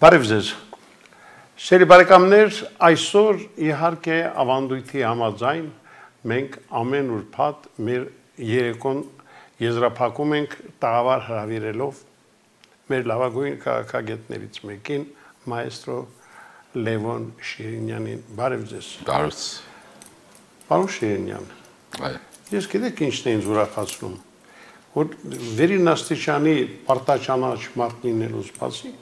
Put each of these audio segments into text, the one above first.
Բարև ձեզ։ Սիրելի բարեկամներ, այսօր իհարկե ավանդույթի համաձայն մենք ամեն ուրբաթ մեր երեկոն եզրափակում ենք տաղավար հրավիրելով մեր լավագույն քաղաքագետներից մեկին, մայստրո Լևոն Շիրինյանին։ Բարև ձեզ։ Բարև։ Պարոն Շիրինյան, ես գիտեք ինչն է ինձ ուրախացնում, որ վերին աստիճանի պարտաճանաչ մարդ լինելուց բացի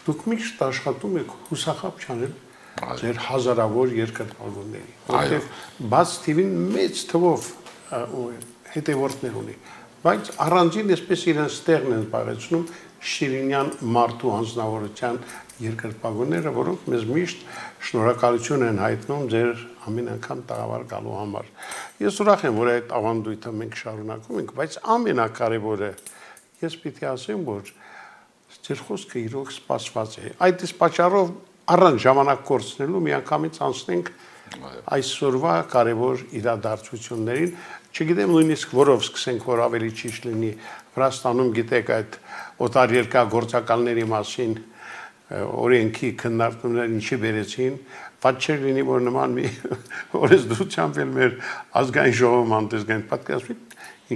դուք միշտ աշխատում եք հուսախաբ չանել ձեր հազարավոր երկրպագուների, որտեղ բաց թիվին մեծ թվով հետևորդներ ունի, բայց առանձին այսպես իրենց տեղն են զբաղեցնում Շիրինյան մարդու անձնավորության երկրպագուները, որոնք մեզ միշտ շնորհակալություն են հայտնում ձեր ամեն անգամ տաղավար գալու համար։ Ես ուրախ եմ, որ այդ ավանդույթը մենք շարունակում ենք, բայց ամենակարևորը ես պիտի ասեմ, որ ձեր խոսքը իրոք սպասված է։ Այդ իսկ պատճառով առանց ժամանակ կորցնելու միանգամից անցնենք այսօրվա կարևոր իրադարձություններին, չգիտեմ նույնիսկ որով սկսենք, որ ավելի ճիշտ լինի։ Վրաստանում գիտեք այդ օտարերկրյա գործակալների մասին օրենքի քննարկումները ինչի բերեցին, բայց չէր լինի, որ նման մի օրենսդրությամբ էլ մեր ազգային ժողովում անտեսգային պատկերացվի,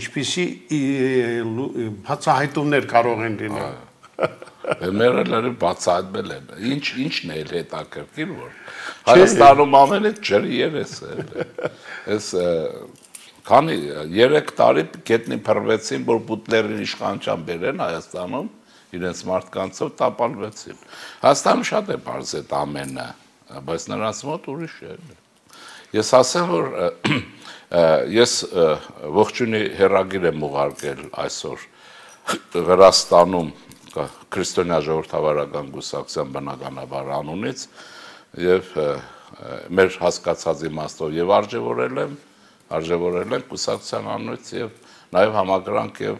ինչպիսի բացահայտումներ կարող են լինել։ Մերելերը բացահայտվել են։ Ինչն է հետաքրքիր, որ Հայաստանում ամեն այդ ջրի երես է։ Այս քանի 3 տարի գետնի փռվեցին, որ բուտլերին իշխանության բերեն Հայաստանում, իրենց մարդկանցով տապալվեցին։ Հայաստանը շատ է բարձ այդ ամենը, բայց նրանց մոտ ուրիշ է։ Ես ասեմ, որ ես ողջունի հեռագիր եմ ուղարկել այսօր Վրաստանում Քրիստոնյա ժողովրդավարական կուսակցության բնականաբար անունից եւ մեր հասկացած իմաստով եւ արժեվորել են կուսակցության անունից եւ նաեւ համակրանք եւ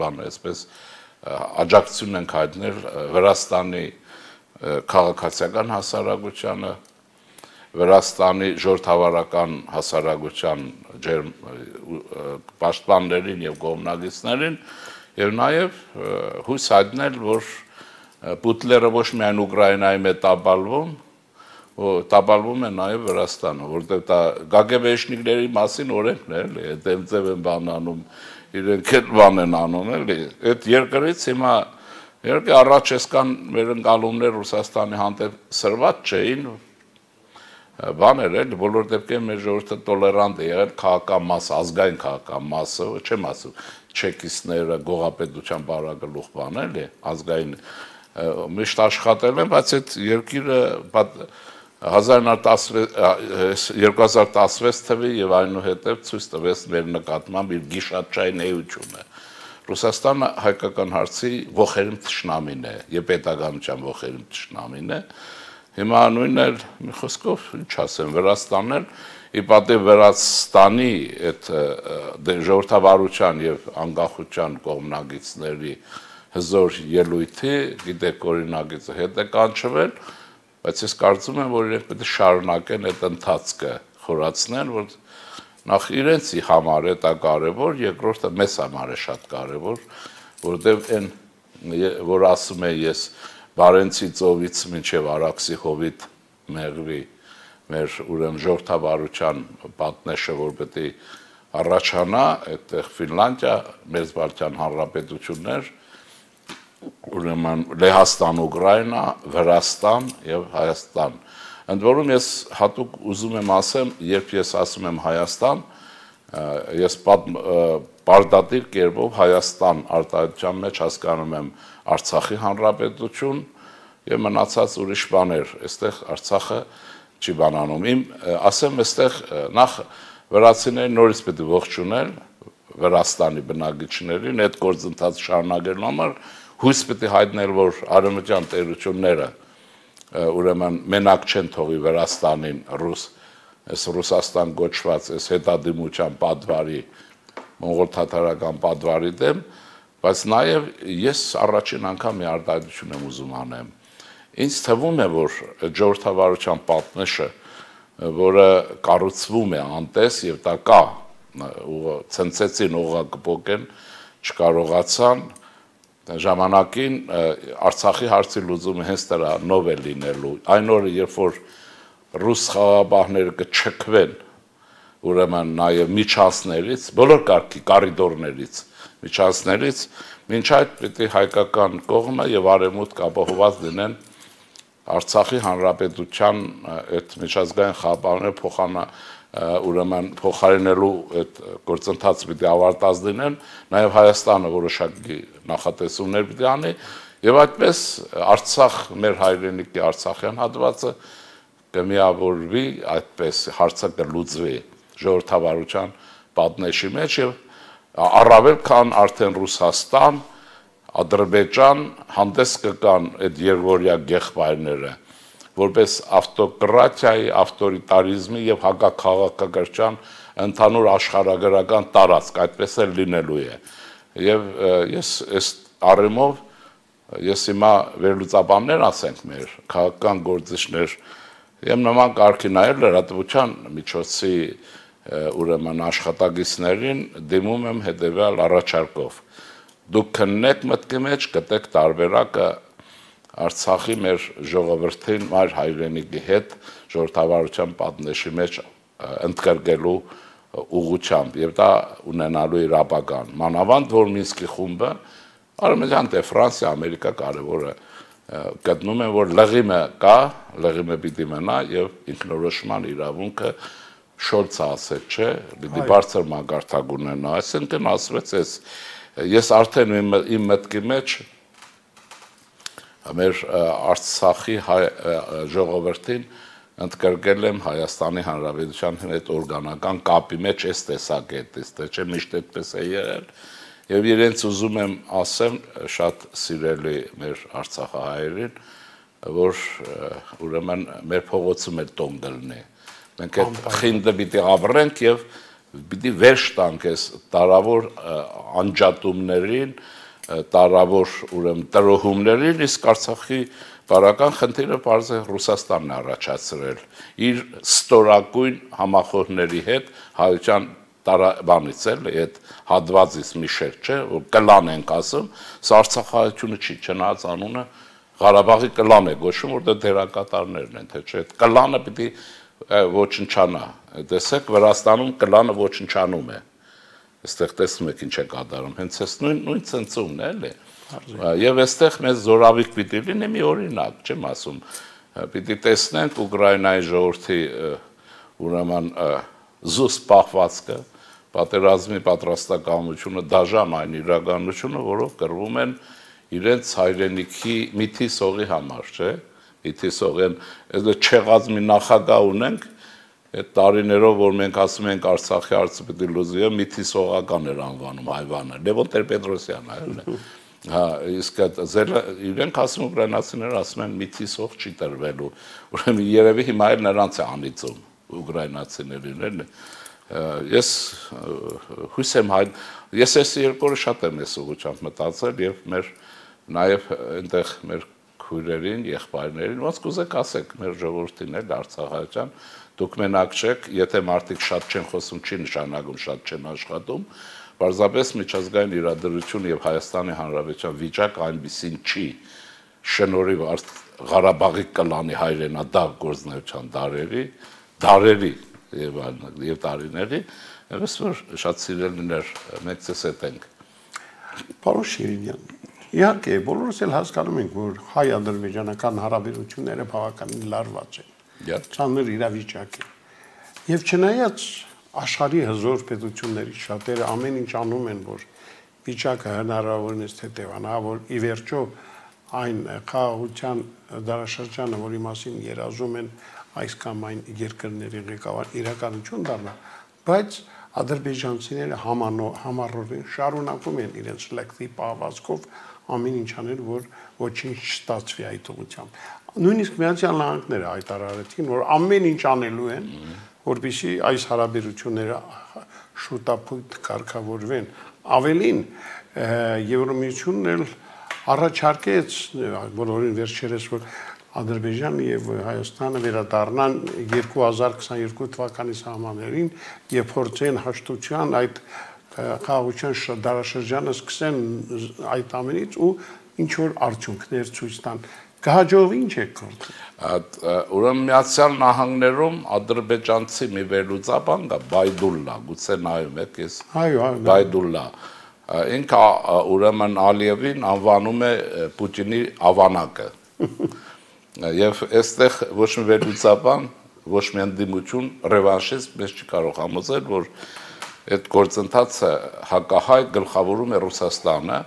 բան այսպես աջակցություն ենք հայտնել Վրաստանի քաղաքացիական հասարակությանը, Վրաստանի ժողովրդավարական հասարակության պաշտպաններին եւ կողմնակիցներին եւ նաեւ հույս հայտնել, որ բուտլերը ոչ միայն Ուկրաինայի մեջ տապալվում է նաեւ Վրաստանը, որտեղ դա գագեբեշնիկների մասին օրենքն է, էլի, դեմձև են բանանում, իրենք էլ բան են անում, էլի, այդ երկրից հիմա իհարկե առաջ էսքան մեր ընկալումներ Ռուսաստանի հանդեպ սրված չէին, բաներ էլ բոլոր դեպքերում մեր ժողովուրդը տոլերանտ է եղել քաղաքական մաս, ազգային քաղաքական մասը, չեմ ասում չեկիստները, գողապետության բարագլուխ բան էլի, ազգային միշտ աշխատել են, բայց այդ երկիրը 2016 թվի եւ այնուհետեւ ցույց տվեց մեր նկատմամբ իր գիշատչային էությունը։ Ռուսաստանը հայկական հարցի ողերմ թշնամին է, եւ պետականության ողերմ թշնամին է։ Հիմա նույնն էլ մի խոսքով ինչ ասեմ, Վրաստանն էլ ի պատիվ Վրաստանի այդ ժողովրդավարության եւ անկախության կողմնակիցների հզոր ելույթի, գիտեք օրինակիցը հետ է կանչվել, բայց ես կարծում եմ, որ իրենք պետք է շարունակեն այդ ընթացքը, խորացնեն, որ նախ իրենցի համար է դա կարևոր, երկրորդը մեզ համար է շատ կարևոր, որտեղ այն որ ասում է ես Բարենցի ծովից մինչև Արաքսի հովիտ մեղվի մեր ուրեմն ժողովրդավարության պատնեշը, որ պետք է առաջանա, այդտեղ Ֆինլանդիա, Մերձբալթյան հանրապետություններ, ուրեմն Լեհաստան, Ուկրաինա, Վրաստան եւ Հայաստան։ Ընդ որում ես հատուկ ուզում եմ ասեմ, երբ ես ասում եմ Հայաստան, ես պարտադիր կերպով Հայաստան արտահայտության մեջ հասկանում եմ Արցախի հանրապետություն եւ մնացած ուրիշ բաներ, այստեղ Արցախը չի բանանում։ Ասեմ, այստեղ նախ վրացիներին նորից պետք է ողջունել Վրաստանի բնակիչներին, այդ գործընթացը շարունակելու համար հույս պետք է հայտնել, որ արևմտյան տերությունները ուրեմն մենակ չեն թողի Վրաստանին Ռուսաստան գոչված այս հետադիմության պատվարի, մոնղոլ-թաթարական պատվարի դեմ, բայց նաև ես առաջին անգամ մի արտահայտություն եմ ուզում անեմ։ Ինձ թվում է, որ ժողովրդավարության պատնեշը, որը կառուցվում է անտես եւ դա կա, ցնցեցին օղակպոկեն, չկարողացան, ժամանակին Արցախի հարցի լուծումը հենց դրանով է լինելու։ Այն օրը, երբ որ ռուս խաղաղապահները կչքվեն, ուրեմն նաև միջանցներից, բոլոր կարգի կորիդորներից, միջանցներից, մինչ այդ պիտի հայկական կողմը եւ արևմուտք ապահովված լինեն Արցախի հանրապետության այդ միջազգային խաղապահները ուրեմն փոխարինելու այդ գործընթացը պիտի ավարտած լինեն, նաև Հայաստանը որոշակի նախատեսումներ պիտի անի եւ այդպես Արցախ մեր հայրենիքի Արցախյան հատվածը կմիավորվի, այդպես հարցը կլուծվի ժողովրդավարության պատնեշի մեջ եւ առավել քան արդեն Ռուսաստան, Ադրբեջան հանդես կգան այդ երկօրյա գեղբայրները որպես ավտոկրատիայի, ավտորիտարիզմի եւ հակաքաղաքական ընդհանուր աշխարհագրական տարածք, այդպես էլ լինելու է։ Եվ ես այս առումով ես հիմա վերլուծաբաններ ասենք մեր քաղաքական գործիչներ եւ նման կարգի նայել լրատվության միջոցի ուրեմն աշխատակիցներին դիմում եմ հետեւյալ առաջարկով։ Դուք քննեք մտքի մեջ, գտեք տարբերակը Արցախի մեր ժողովրդին մայր հայրենիքի հետ ժողովրդավարության պատնեշի մեջ ընդգրկելու ուղղությամբ եւ դա ունենալու իր ապագան։ Մանավանդ որ Մինսկի խումբը Արմենիան դե Ֆրանսիա, Ամերիկա կարևորը գտնում են որ լղիմը կա, լղիմը պիտի մնա եւ ինքնորոշման իրավունքը Շոլցը ասել, չէ, պիտի բարձր մակարդակ ունենա, այսինքն ասվեց ես արդեն իմ մտքի մեջ մեր Արցախի ժողովրդին ընդգրկել եմ Հայաստանի Հանրապետության հետ օրգանական կապի մեջ այս տեսակետից, թե չէ միշտ այդպես է եղել եւ իրենց ուզում եմ ասեմ շատ սիրելի մեր արցախահայերին, որ ուրեմն մեր փողոցում էլ տոն կլինի։ Մենք այդ խինդը պիտի ապրենք եւ պիտի վերջ տանք այս տարավոր անջատումներին, տարավոր ուրեմն տրոհումներին, իսկ Արցախի բարական խնդիրը բարձ է Ռուսաստանն առաջացրել իր ստորակույն համախոհների հետ հայության տարաբանից էլ այդ հատվածից մի շերտ չէ, որ կլան ենք ասում, սա Արցախահայությունը չի, չնայած անունը Ղարաբաղի կլան է գոչվում, որտեղ դերակատարներն են, թե չէ, կլանը պիտի ոչնչանա։ Տեսեք, Վրաստանում կլանը ոչնչանում է։ Այստեղ տեսնում եք ինչ է կատարում, հենց այս նույն ցնցումն է, էլի։ Եվ այստեղ մեզ զորավիք պիտի լինի մի օրինակ, չեմ ասում, պիտի տեսնենք Ուկրաինայի ժողովրդի ուրեմն զուսպ պահվածքը, պատերազմի պատրաստակամությունը, դաժան այն իրականությունը, որով կռվում են իրենց հայրենիքի միթի սողի համար, չէ՞։ Միթի սողեն, այս չեղած մի նախագահ ունենք, այդ տարիներով, որ մենք ասում ենք Արցախի հարցը պիտի լուծվի, միթի սողական էր անվանում հայվանը, Լևոն Տեր-Պետրոսյանը, այլ։ Հա, իսկ իրենք ասում ուկրաինացիները ասում են միթի սող չի տրվելու։ Ուրեմն երևի հիմա էլ նրանց է անիծում ուկրաինացիներին, էլի։ Ես հույս եմ ես այս երկու օրը շատ եմ այս ուղղությամբ մտածել եւ նաեւ այնտեղ մեր քույրերին, եղբայրներին, ոնց կուզեք ասեք մեր ժողովրդին էլ Արցախայցյան, դուք մենակ չեք, եթե մարդիկ շատ չեն խոսում, չի նշանակում շատ չեն աշխատում, պարզապես միջազգային իրադրություն եւ Հայաստանի Հանրապետության վիճակ այնպեսին չի, շնորհիվ Ղարաբաղի կլանի հայրենադար գործնեության դարերի եւ տարիների, ես որ շատ սիրելիներ մենք ցես հետ ենք։ Պարոն Շիրինյան, իհարկե բոլորս էլ հասկանում ենք, որ հայ-ադրբեջանական հարաբերությունները բավականին լարված են։ Ծանր իրավիճակ է։ Եվ չնայած աշխարհի հզոր պետությունների շատերը ամեն ինչ անում են, որ վիճակը հնարավորինս թեթևանա, որ ի վերջո այն խաղաղության դարաշրջանը, որի մասին երազում են այս կամ այն երկրների ղեկավար իրականություն դառնա, բայց ադրբեջանցիները համառորեն շարունակում են իրենց լեքտի պահվածքով ամեն ինչ անել, որ ոչինչ չստացվի այդ ուղղությամբ։ Նույնիսկ Միացյալ Նահանգները հայտարարեցին, որ ամեն ինչ անելու են, որպեսզի այս հարաբերությունները շուտապույտ կարգավորվեն։ Ավելին, Եվրամիությունն էլ առաջարկեց բոլորին վերջերս, որ Ադրբեջանը եւ Հայաստանը վերադառնան 2022 թվականի սահմաններին եւ փորձեն հաշտության այդ խաղաղության դարաշրջանը սկսեն այդ ամենից ու ինչ որ արդյունքներ ցույց տան։ Կհաջողվի ինչ է կարծում։ Ուրեմն Միացյալ Նահանգներում ադրբեջանցի մի վերլուծաբան կա Բայդուլլա, գուցե նայում եք ես։ Այո, Բայդուլլա։ Ինքը ուրեմն Ալիևին անվանում է Պուտինի ավանակը։ Եվ այստեղ ոչ մի վերլուծաբան, ոչ մի ընդդիմություն ռևանշիստ մեզ չի կարող համոզել, որ այդ գործընթացը հակահայ գլխավորում է Ռուսաստանը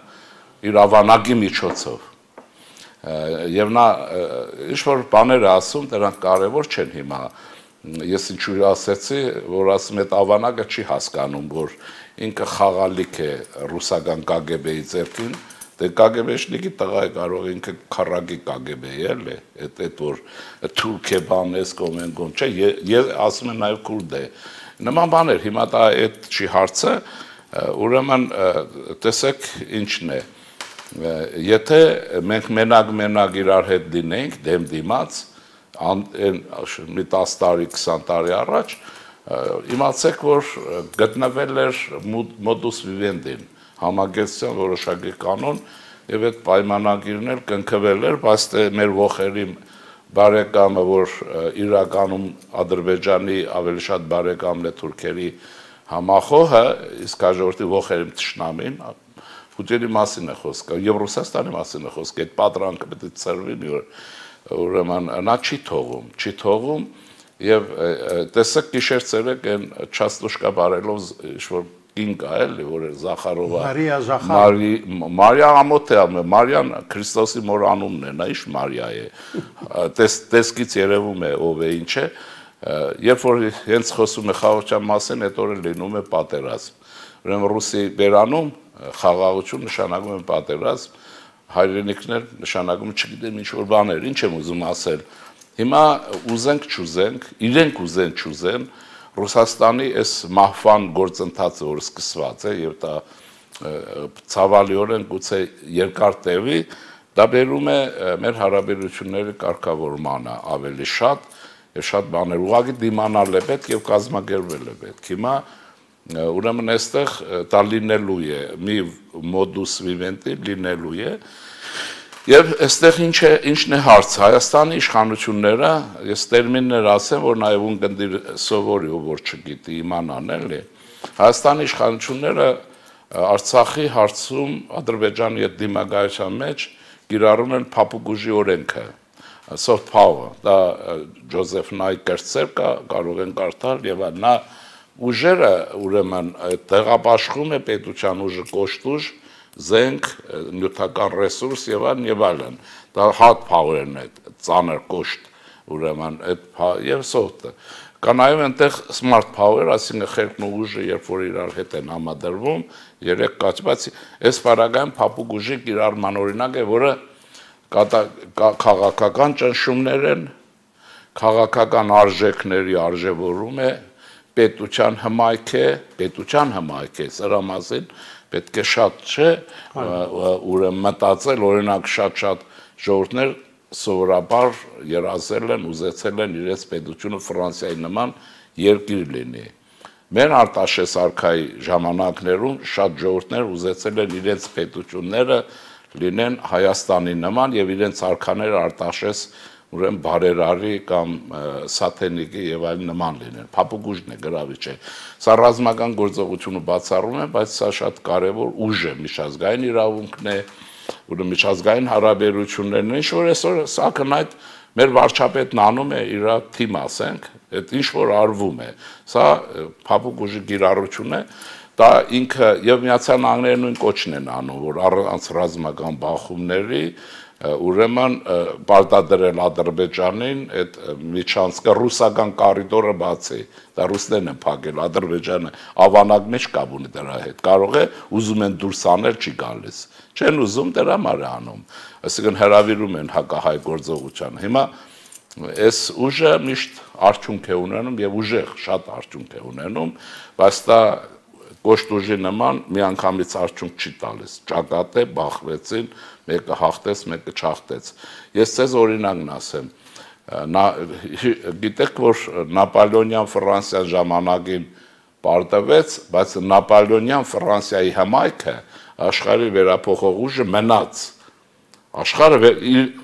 իր ավանակի միջոցով։ Եվ նա ինչ-որ բաներ է ասում, դրանք կարևոր չեն հիմա։ Ես ինչու ասեցի, որ ասում այդ ավանակը չի հասկանում, որ ինքը խաղալիք է ռուսական KGB-ի ձեռքին, դե KGB-շնիկի տղա է կարող ինքը քարակի KGB-ի էլի, այդ որ թուրք է բան էս կոմենգոն, չէ, ես ասում եմ նաև քուրդ է։ Նման բաներ, հիմա դա այդ չի հարցը, ուրեմն տեսեք ինչն է։ Եթե մենք մենակ իրար հետ դինենք, դեմ դիմաց, մի 10 տարի, 20 տարի առաջ, իմացեք, որ գտնվել էր մոդուս վիվենդին, համագործակցության որոշակի կանոն, եւ այդ պայմանագիրն էլ կնքվել էր, բայց մեր ողերի բարեկամը, որ իրականում Ադրբեջանի ավելի շատ բարեկամն է թուրքերի համախոհը, իսկ հաջորդի ողերի թշնամին Պուտինի մասին է խոսքը, եւ Ռուսաստանի մասին է խոսքը, այդ պատրանքը պետք է ծրվի մի օր, ուրեմն նա չի թողում, եւ տեսեք գիշեր ցերեկ այն չաստուշկա բարելով ինչ-որ կին կա էլի, որ Զախարովա Մարիա ամոթ է, Մարիան Քրիստոսի մոր անունն է, նա ինչ Մարիա է, տեսքից երևում է ով է, ինչ է, երբ որ հենց խոսում է խաղաղության մասին, այդ օրը լինում է պատերազմ, ուրեմն Ռուսի բերանում խաղաղություն նշանակում է պատերազմ, հայրենիքներ նշանակում չգիտեմ ինչ որ բաներ, ինչ եմ ուզում ասել։ Հիմա ուզենք չուզենք, իրենք ուզեն չուզեն, Ռուսաստանի այս մահվան գործընթացը, որ սկսված է եւ դա ցավալիորեն գուցե երկար տևի, դա բերում է մեր հարաբերությունների կարգավորմանը ավելի շատ եւ շատ բաներ ուղղակի դիմանալ է պետք եւ կազմակերպվել է պետք։ Հիմա ուրեմն այստեղ դա լինելու է, մի մոդուս վիվենդի լինելու է, եւ այստեղ ինչն է հարցը, Հայաստանի իշխանությունները, ես տերմիններ ասեմ, որ նաեւ ունկնդիր սովորի, որ չգիտի իմանան էլի, Հայաստանի իշխանությունները Արցախի հարցում Ադրբեջանի հետ դիմակայության մեջ կիրառում են փափուկ օրենքը, soft power, դա Ջոզեֆ Նայկերցեր կարող են կարդալ եւ նա ուժերը ուրեմն տեղապաշխում է պետության ուժը կոշտ ուժ, զենք, նյութական ռեսուրս եւ այլն, դա hard power-ն է, ծանր կոշտ, ուրեմն այդ եւ soft-ը։ Կա նաեւ այնտեղ smart power, այսինքն խելքն ու ուժը, երբ որ իրար հետ են համադրվում, երեք կաչ, բայց այս բaragայում փափուկ ուժի կիրառման օրինակ է, որը քաղաքական ճնշումներ են, քաղաքական արժեքների արժևորում է, պետության հմայք է, սրա մասին պետք է շատ չէ, ուրեմն մտածել, օրինակ շատ ժողովուրդներ սովորաբար երազել են, ուզեցել են իրենց պետությունը Ֆրանսիայի նման երկիր լինի։ Մեր Արտաշես արքայի ժամանակներում շատ ժողովուրդներ ուզեցել են իրենց պետությունները լինեն Հայաստանի նման եւ իրենց արքաները Արտաշես ուրեմն բարերարի կամ սաթենիկի եւ այլ նման լինեն։ Փափուկ ուժն է, գրավիչ է։ Սա ռազմական գործողությունը բացառում է, բայց սա շատ կարեւոր ուժ է, միջազգային իրավունքն է, ուրեմն միջազգային հարաբերություններն են, ինչ որ այսօր սա կնայդ մեր վարչապետն անում է իր թիմ, ասենք, այդ ինչ որ արվում է։ Սա փափուկ ուժի կիրառություն է, դա ինքը եւ Միացյալ Նահանգները նույն կոչն են անում, որ առանց ռազմական բախումների ուրեմն պարտադրել Ադրբեջանին այդ միջանցքը ռուսական կորիդորը բացի, դա ռուսներն են փակել, Ադրբեջանը ավանակ մեջ կապ ունի դրա հետ, կարող է ուզում են դուրս անել, չի գալիս, չեն ուզում դրա համար է անում, այսինքն հրավիրում են հակահայ գործողությանը։ Հիմա այս ուժը միշտ արդյունք է ունենում եւ ուժեղ շատ արդյունք է ունենում, բայց դա կոշտ ուժի նման միանգամից արդյունք չի տալիս, ճակատ է, բախվեցին, մեկը հաղթեց, մեկը չհաղթեց։ Ես ձեզ օրինակն ասեմ, գիտեք, որ Նապոլեոնյան Ֆրանսիան ժամանակին պարտվեց, բայց Նապոլեոնյան Ֆրանսիայի հմայքը աշխարհի վերափոխող ուժը մնաց։ Աշխարհը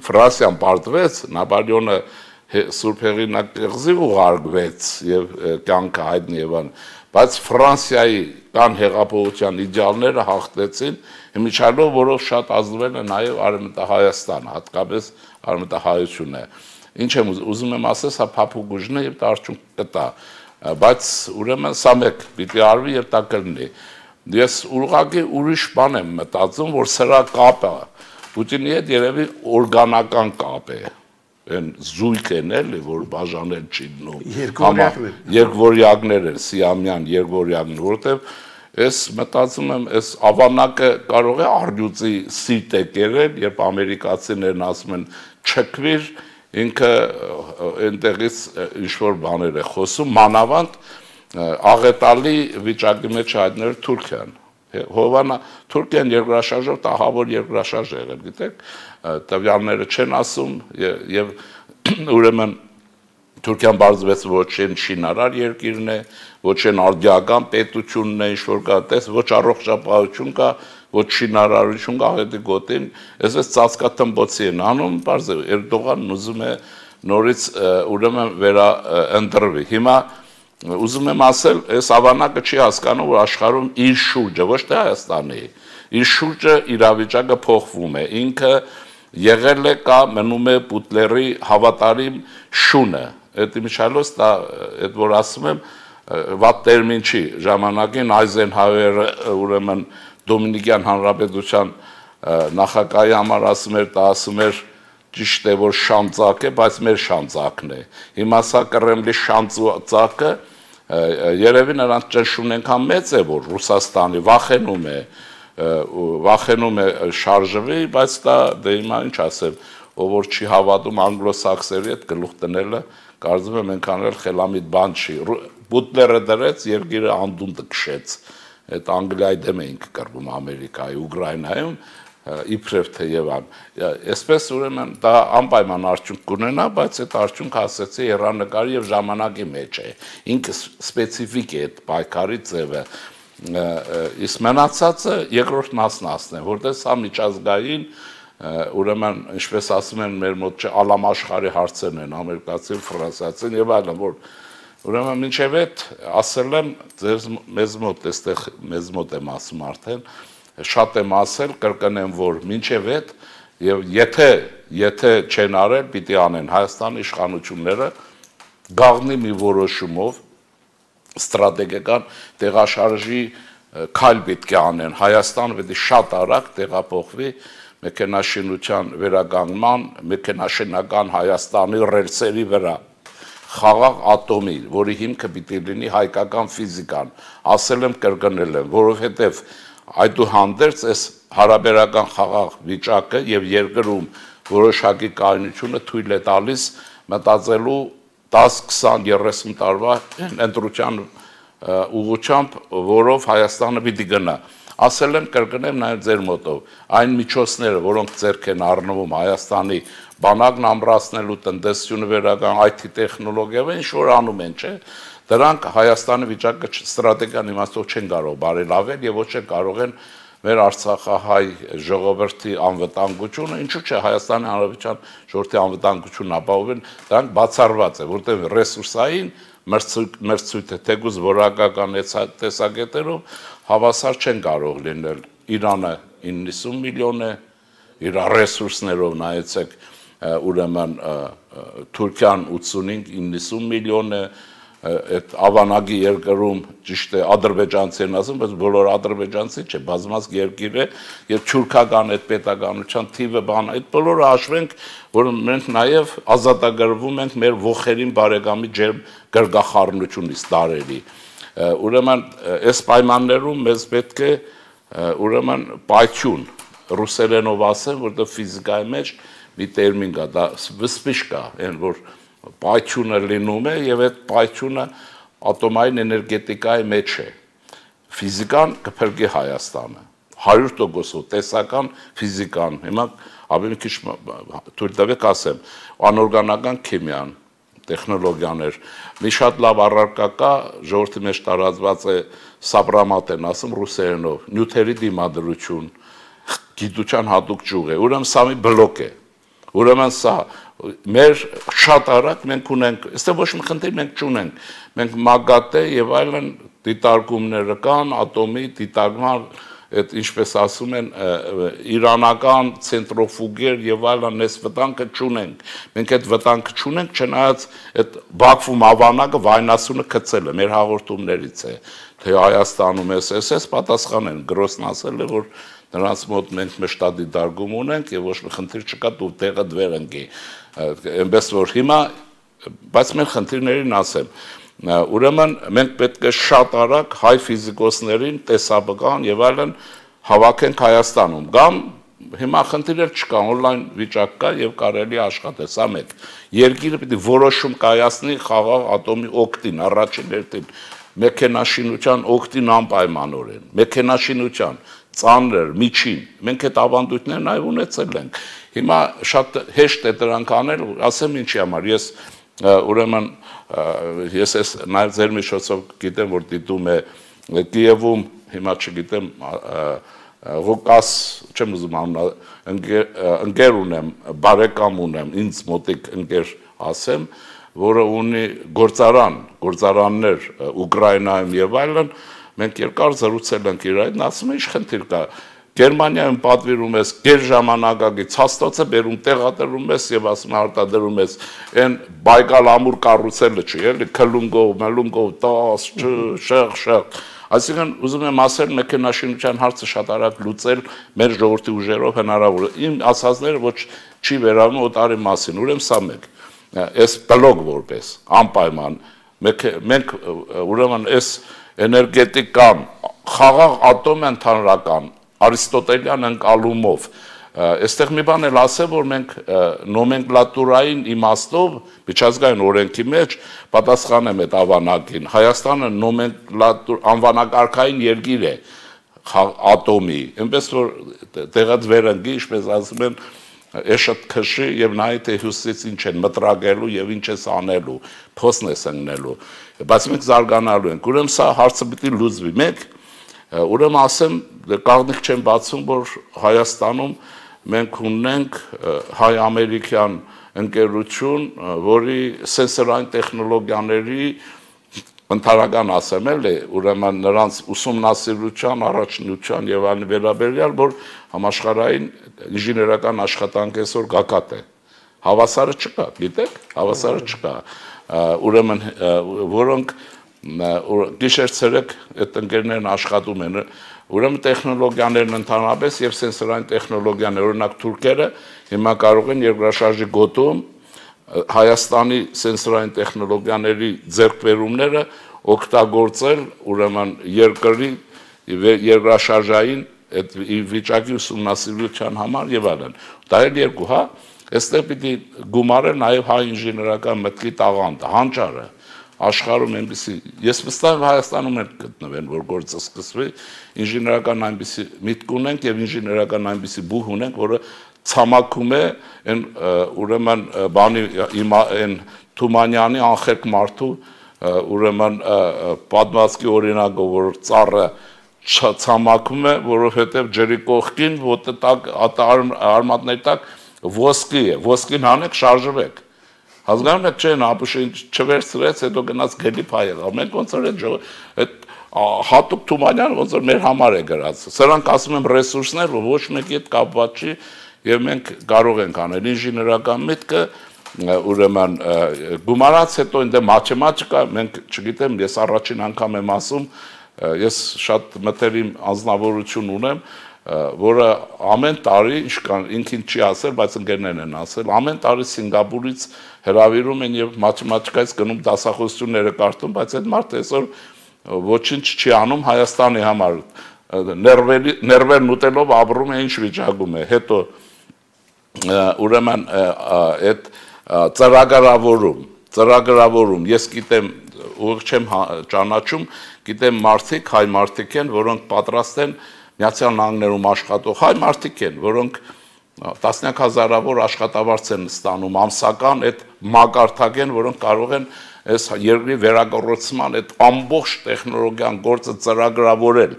Ֆրանսիան պարտվեց, Նապոլեոնը Սուրբ Հեղինակ կղզի ուղարկվեց եւ կյանքը հայտնի Եվան, բայց Ֆրանսիայի կան հեղափոխության իդեալները հաղթեցին, իմիջիալով որով շատ ազդվել է նաեւ Արևմտահայաստանը, հատկապես Արևմտահայությունը։ Ինչ եմ ուզում եմ ասել, սա փափուկ ուժն է եւ դա արդյունք կտա, բայց ուրեմն սա մեկ պիտի արվի եւ դա կլինի։ Ես ուղղակի ուրիշ բան եմ մտածում, որ սրա կապը Պուտինի հետ երևի օրգանական կապ է, այն զույգ են էլի, որ բաժանել չի դնում, երկվորյակներ են, սիամյան երկվորյակներ, որովհետև ես մտածում եմ, այս ավանակը կարող է արդյունքի սիրտ է կերել, երբ ամերիկացիներն ասում են չքվիր, ինքը այնտեղից ինչ-որ բաներ է խոսում, մանավանդ աղետալի վիճակի մեջ հայտնել Թուրքիան։ Հովանա Թուրքիան երկրաշարժով տաղավոր երկրաշարժ է եղել, գիտեք, տվյալները չեն ասում եւ ուրեմն Թուրքիան բարձվեց ոչ են շինարար երկիրն է, ոչ են արդիական պետությունն է, ինչ-որ կա, տես ոչ առողջապահություն կա, ոչ շինարարություն կա, աղետի գոտին, այսպես ծածկաթմբոցի են անում, բարձ Էրդողանն ուզում է նորից ուրեմն վերաընտրվի։ Հիմա ուզում եմ ասել, այս ավանակը չի հասկանում, որ աշխարհում իր շուրջը, ոչ թե Հայաստանի, իր շուրջը իրավիճակը փոխվում է, ինքը եղել է կա մնում է Պուտլերի հավատարիմ շունը, այդ իմիջիալոց դա այդ որ ասում եմ վատ տերմին չի, ժամանակին Այզենհաուերը ուրեմն Դոմինիկյան Հանրապետության նախագահի համար ասում էր, դա ասում էր ճիշտ է որ շանծակ է, բայց մեր շանծակն է։ Հիմա սա Կրեմլի շանծակը երևի նրանց ճնշումն այնքան մեծ է, որ Ռուսաստանի վախենում է շարժվի, բայց դա դե հիմա ինչ ասեմ, ով որ չի հավատում անգլոսաքսերի հետ գլուխ տնելը, կարծում եմ այնքան էլ խելամիտ բան չի։ Պուտլերը դրեց, երկիրը անդունդը քշեց։ Այդ Անգլիայի դեմ էինք կռվում Ամերիկայի, Ուկրաինայում իբրև թե Եվան, այսպես ուրեմն դա անպայման արդյունք կունենա, բայց այդ արդյունքը ասեցի հեռանկարի եւ ժամանակի մեջ է, ինքը սպეციფიկ է այդ պայքարի ձևը, իսկ մնացածը երկրորդ մասն ասնեմ, որտեղ սա միջազգային ուրեմն ինչպես ասում են մեր մոտ ալամաշխարի հարցերն են, ամերիկացին, ֆրանսիացին եւ այլն, որ ուրեմն մինչեւ այդ ասել եմ մեզ մոտ, այստեղ մեզ մոտ եմ ասում արդեն շատ եմ ասել, կրկնեմ, որ մինչև այդ եւ եթե չեն արել, պիտի անեն Հայաստանի իշխանությունները գաղտնի մի որոշումով ստրատեգիական տեղաշարժի քայլ պետք է անեն, Հայաստանը պետք է շատ արագ տեղափոխվի մեքենաշինության վերականգնման, մեքենաշինական Հայաստանի ռելսերի վրա խաղաղ ատոմի, որի հիմքը պիտի լինի հայկական ֆիզիկան, ասել եմ, կրկնել եմ, որովհետեւ այդուհանդերձ այս հարաբերական խաղաղ վիճակը եւ երկրում որոշակի կայունությունը թույլ է տալիս մտածելու 10, 20, 30 տարվա ընտրության ուղղությամբ, որով Հայաստանը պիտի գնա։ Ասել եմ, կրկնեմ նաեւ ձեր մոտով, այն միջոցները, որոնք ձեռք են առնվում Հայաստանի բանակն ամրացնելու, տնտեսությունը վերականգնելու, IT տեխնոլոգիաව, ինչ որ անում են, չէ՞։ Դրանք Հայաստանի վիճակը ստրատեգիական իմաստով չեն կարող բարելավել եւ ոչ են կարող են մեր Արցախահայ ժողովրդի անվտանգությունը, ինչու՞ չէ Հայաստանի Հանրապետության ժողովրդի անվտանգությունն ապահովել, դրանք բացառված է, որտեղ ռեսուրսային մրցույթը թեկուզ որակական տեսակետերով հավասար չեն կարող լինել։ Իրանը 90 միլիոն է, իր ռեսուրսներով նայեցեք, ուրեմն Թուրքիան 85-90 միլիոն է, այդ ավանագի երկրում ճիշտ է ադրբեջանցի են ասում, բայց բոլոր ադրբեջանցի չէ, բազմազգ երկիր է եւ թուրքական այդ պետականության թիվը բան, այդ բոլորը հաշվենք, որ մենք նաեւ ազատագրվում ենք մեր ողերին բարեկամի ջերմ գրգախառնությունից տարերի։ Ուրեմն այս պայմաններում մեզ պետք է ուրեմն պայթյուն, ռուսերենով ասեմ, որտեղ ֆիզիկայի մեջ մի տերմին կա, դա վսպիշկա, այն որ պայթյունը լինում է եւ այդ պայթյունը ատոմային էներգետիկայի մեջ է։ Ֆիզիկան կփրկի Հայաստանը 100% տեսական ֆիզիկան։ Հիմա ավելի քիչ թույլ տվեք ասեմ, անօրգանական քիմիան, տեխնոլոգիաներ։ Մի շատ լավ առարկա կա, ժողովրդի մեջ տարածված է սապրամատ են ասում ռուսերենով, նյութերի դիմադրություն, գիտության հատուկ ճյուղ է։ Ուրեմն սա մի բլոկ է։ Ուրեմն սա մեր շատ արագ մենք ունենք, այստեղ ոչ մի խնդիր մենք չունենք։ Մենք մագատե եւ այլն դիտարկումները կան, ատոմի դիտարկման այդ ինչպես ասում են իրանական ցենտրոֆուգեր եւ այլն այս վտանգը չունենք։ Մենք այդ վտանգը չունենք, չնայած այդ Բաքվում ավանակը վայնասունը գցել է մեր հաղորդումներից է, թե Հայաստանում էս պատասխան են գրոսն ասել է, որ նրանց մոտ մենք մշտադի դարգում ունենք եւ ոչ մի խնդիր չկա դու տեղը դվեր ընկի։ Այնպես որ հիմա բայց մեր խնդիրներին ասեմ ուրեմն մենք պետք է շատ արագ հայ ֆիզիկոսներին տեսաբան եւ այլն հավաքենք Հայաստանում կամ հիմա խնդիրներ չկա on-line վիճակ կա եւ կարելի աշխատել սա մեկ երկիրը պիտի որոշում կայացնի խաղաղ ատոմի օկտին առաջին հերթին մեքենաշինության օկտին անպայմանորեն մեքենաշինության ծանր միջին մենք այդ ավանդույթներն այ ունեցել ենք հիմա շատ հեշտ է դրանք անել ասեմ ինչի համար ես ուրեմն ես ես նաև ձեր միջոցով գիտեմ որ դիտում է Կիևում հիմա չգիտեմ Ղուկաս չեմ ուզում ընկեր ունեմ բարեկամ ունեմ ինձ մոտիկ ընկեր ասեմ որը ունի գործարաններ Ուկրաինայում եւ այլն մենք երկար զրուցել ենք իր այդ ասում է ինչ խնդիր կա Գերմանիայում պատվիրում ես գեր ժամանակակից հաստոցը բերում տեղադրում ես եւ ասում արտադրում ես այն բայկալ ամուր կառուցելը չի էլի քլունգով մելունգով տաս շեղ այսինքն ուզում եմ ասել մեքենաշինության հարցը շատ արագ լուծել մեր ժողովրդի ուժերով հնարավոր է իմ ասածները ոչ չի վերաբերում օտարի մասին ուրեմն սա մեկ այս բլոկ որպես անպայման մենք ուրեմն այս էներգետիկան խաղաղ ատոմ ընդհանրական Արիստոտելյան ընկալումով այստեղ մի բան էլ ասեմ որ մենք նոմենկլատուրային իմաստով միջազգային օրենքի մեջ պատասխանեմ այդ ավանակին Հայաստանը անվանակարգային երկիր է ատոմի այնպես որ տեղած վերընկի ինչպես ասում են էշտ քշի եւ նայ թե հյուսից ինչ են մտրագելու եւ ինչ է անելու փոսն է սննելու բայց մենք զարգանալու ենք ուրեմն սա հարցը պիտի լուծվի մեկ ուրեմն ասեմ կաղնիկ չեմ բացում որ Հայաստանում մենք ունենք հայ-ամերիկյան ընկերություն որի սենսորային տեխնոլոգիաների ընդհանրական ասեմ էլի ուրեմն նրանց ուսումնասիրության առաջնության եւ այլն վերաբերյալ որ համաշխարհային ինժեներական աշխատանք այսօր գագաթ է հավասարը չկա գիտեք հավասարը չկա ուրեմն որոնք գիշեր ցերեկ այդ ընկերներն աշխատում են ուրեմն տեխնոլոգիաներն ընդհանրապես եւ սենսորային տեխնոլոգիաներ օրինակ թուրքերը հիմա կարող են երկրաշարժի գոտում Հայաստանի սենսորային տեխնոլոգիաների ձեռքբերումները օգտագործել ուրեմն երկրի երկրաշարժային այդ վիճակի ուսումնասիրության համար եւ այլն դա էլ երկու հա այստեղ պիտի գումարել նաեւ հայ ինժեներական մտքի տաղանդը հանճարը աշխարհում այնպեսի ես վստահ եմ Հայաստանում էլ գտնվեն որ գործը սկսվի ինժեներական այնպեսի միտք ունենք եւ ինժեներական այնպեսի բուհ ունենք որը ցամաքում է այն ուրեմն բանի այն Թումանյանի անխելք մարդու ուրեմն պատմվածքի օրինակով որ ծառը ցամաքում է որովհետեւ ջրի կողքին ոտը տակ արմատների տակ ոսկի է ոսկին հանեք շարժվեք Հասկանում եք չեն ապուշը չվերցրեց հետո գնաց գելի փայել մենք ոնց որ այդ հատուկ Թումանյան ոնց որ մեր համար է գրած սրանք ասում եմ ռեսուրսներ որ ոչ մեկի հետ կապված չի եւ մենք կարող ենք անել ինժեներական միտքը ուրեմն գումարած հետո ինձ մաթեմատիկա մենք չգիտեմ ես առաջին անգամ եմ ասում ես շատ մտերիմ անձնավորություն ունեմ որը ամեն տարի ինքին չի ասել, բայց ընկերներն են ասել, ամեն տարի Սինգապուրից հրավիրում են եւ մաթեմատիկայից գնում դասախոսությունները կարդում, բայց այդ մարդը այսօր ոչինչ չի անում Հայաստանի համար։ Ներվերն ուտելով ապրում է ինչ վիճակում է։ Հետո ուրեմն այդ ծրագրավորում ես գիտեմ ուղղ չեմ ճանաչում, գիտեմ մարդիկ, հայ մարդիկ են, որոնք պատրաստ են Միացյալ Նահանգներում աշխատող հայ մարդիկ են, որոնք տասնյակ հազարավոր աշխատավարձ են ստանում ամսական այդ մակարդակ են, որոնք կարող են այս երկրի վերագործման այդ ամբողջ տեխնոլոգիան գործը ծրագրավորել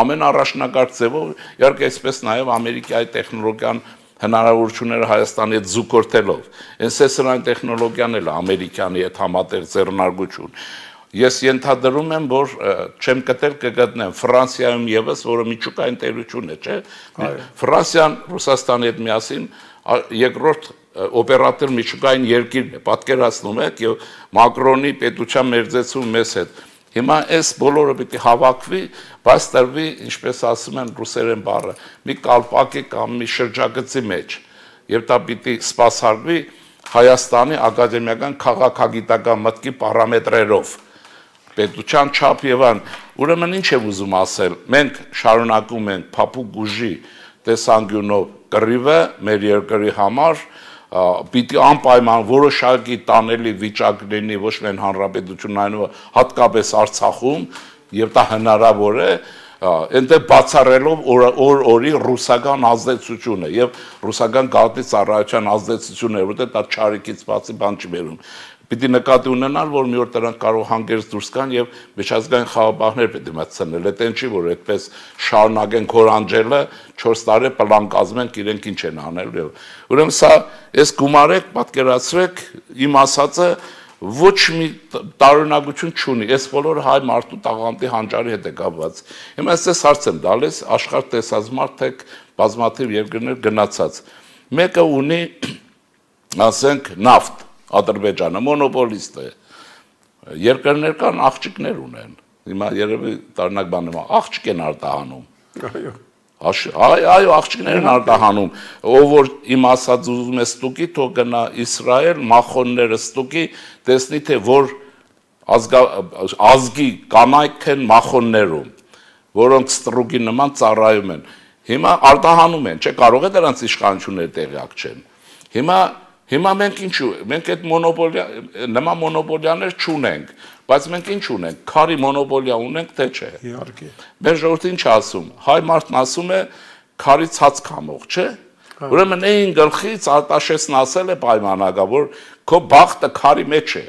ամենառաջնակարգ ձևով, իհարկե այսպես նաև ամերիկայի տեխնոլոգիան հնարավորությունները Հայաստանի հետ զուգորդելով, սրանք տեխնոլոգիան էլ ամերիկյանի հետ համատեղ ձեռնարկություն։ Ես ենթադրում եմ, որ չեմ գտել կգտնեմ Ֆրանսիայում եւս, որը միջուկային տերություն է, չէ՞։ Ֆրանսիան Ռուսաստանի հետ միասին երկրորդ օպերատոր միջուկային երկիրն է, պատկերացնում եք, եւ Մակրոնի պետության մերձեցում մեզ հետ։ Հիմա այս բոլորը պիտի հավաքվի, բայց տրվի, ինչպես ասում են ռուսերեն բառը, մի կալպակի կամ մի շրջագծի մեջ, եւ դա պիտի սպասարկվի Հայաստանի ակադեմիական քաղաքագիտական մտքի պարամետրերով, պետության չափ եւ այն։ Ուրեմն ինչ եմ ուզում ասել, մենք շարունակում ենք փափուկ ուժի տեսանկյունով կռիվը մեր երկրի համար, պիտի անպայման որոշակի տանելի վիճակ լինի ոչ միայն հանրապետությունն այնուհետև հատկապես Արցախում եւ դա հնարավոր է այնտեղ բացառելով օրի ռուսական ազդեցությունը եւ ռուսական գաղտնի ծառայության ազդեցությունը, որտեղ դա չարիքից բացի բան չի բերում։ Պիտի նկատի ունենալ, որ մի օր դրանք կարող հանգերց դուրս գան եւ միջազգային խաղապահներ պետք է մտցնել։ Այդտեն չի, որ այդպես շարունակեն քորանջելը 4 տարի պլան կազմենք, իրենք ինչ են անել։ Ուրեմն սա այս գումարեք, պատկերացրեք, իմ ասածը ոչ մի տարօրինակություն չունի։ Այս բոլորը հայ մարդու տաղանդի հանճարի հետ է կապված։ Հիմա ես հարց եմ տալիս, աշխարհ տեսած մարդ եք, բազմաթիվ երկրներ գնացած։ Մեկը ունի, ասենք, նավթ Ադրբեջանը մոնոպոլիստ է։ Երկրներ կան աղջիկներ ունեն։ Հիմա երևի տարնակ բան եմ, աղջիկ են արտահանում։ Այո, աղջիկներ են արտահանում։ Ով որ իմ ասած ուզում է ստուգի, թող գնա Իսրայել, մախոնները ստուգի, տեսնի թե որ ազգի կանայք են մախոններում, որոնք ստրուկի նման ծառայում են։ Հիմա արտահանում են, չէ, կարող է դրանց իշխանությունները տեղյակ չեն։ Հիմա մենք ինչու, մենք այդ մոնոպոլիա, նման մոնոպոլիաներ չունենք, բայց մենք ինչ ունենք, քարի մոնոպոլիա ունենք, թե չէ։ Իհարկե։ Մեր ժողովուրդը ինչ ասում, հայ մարդն ասում է քարի ցած քամող, չէ։ Ուրեմն այն գլխից Արտաշեսն ասել է պայմանագա, որ քո բախտը քարի մեջ է։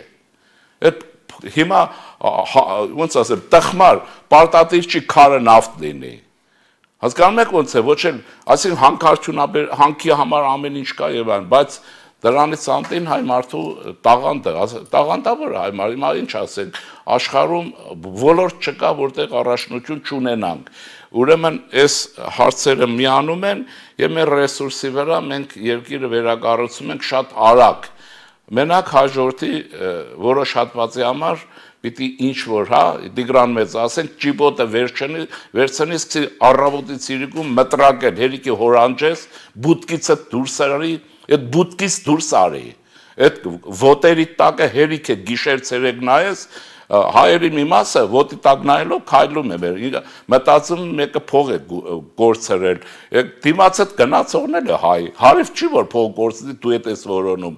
Այդ հիմա ոնց ասեմ, տխմար, պարտադիր չի քարը նավթ լինի։ Հասկանում եք ոնց է, ոչ էլ, այսինքն հանքի համար ամեն ինչ կա եւ այն, բայց դրանից անտին հայ մարդու տաղանդավոր հայ մարդու, հիմա ինչ ասենք, աշխարհում ոլորտ չկա, որտեղ առաջնություն չունենանք։ Ուրեմն այս հարցերը միանում են եւ մեր ռեսուրսի վրա մենք երկիրը վերակառուցում ենք շատ արագ։ Մենակ հաջորդի որոշ հատվածի համար պիտի ինչ որ, հա, Տիգրան մեծ ասենք, ճիպոտը վերցնի, սկսի առավոտից իրիկում մտրակել, հերիքի հորանջես, բուտկիցը դուրս արի, այդ բուտկից դուրս արի, այդ ոտերի տակը հերիք է գիշեր ցերեկ նայես, հայերի մի մասը ոտի տակ նայելով քայլում է մեր, մտածում մեկը փող է գործրել, դիմացդ գնացողն էլ է հայ, հարև չի որ փող գործի, դու ես որոնում,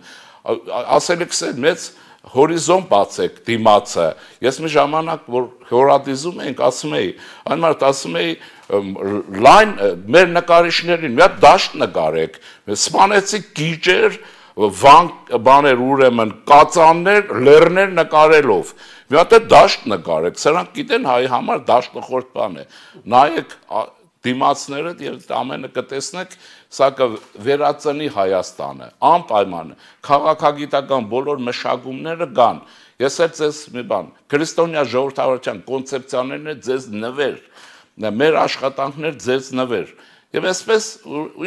ասել եք սեր մեծ հորիզոն բացեք դիմացը, ես մի ժամանակ, որ հորատիզում ենք, ասում էի, այն մարդ ասում էի, լայն մեր նկարիչներին, մի հատ դաշտ նկարեք, սպանեցի գիճեր, բաներ ուրեմն, կածաններ, լեռներ նկարելով, մի հատ է դաշտ նկարեք, սրանք գիտեն հայի համար դաշտը խորտ բան է, նայեք դիմացները եւ ամենը կտեսնեք, սա կվերածնի Հայաստանը, անպայման քաղաքագիտական բոլոր մշակումները կան։ Ես էլ ձեզ մի բան, քրիստոնյա ժողովրդավարության կոնցեպցիաներն է ձեզ նվեր, մեր աշխատանքներ ձեզ նվեր։ Եվ այսպես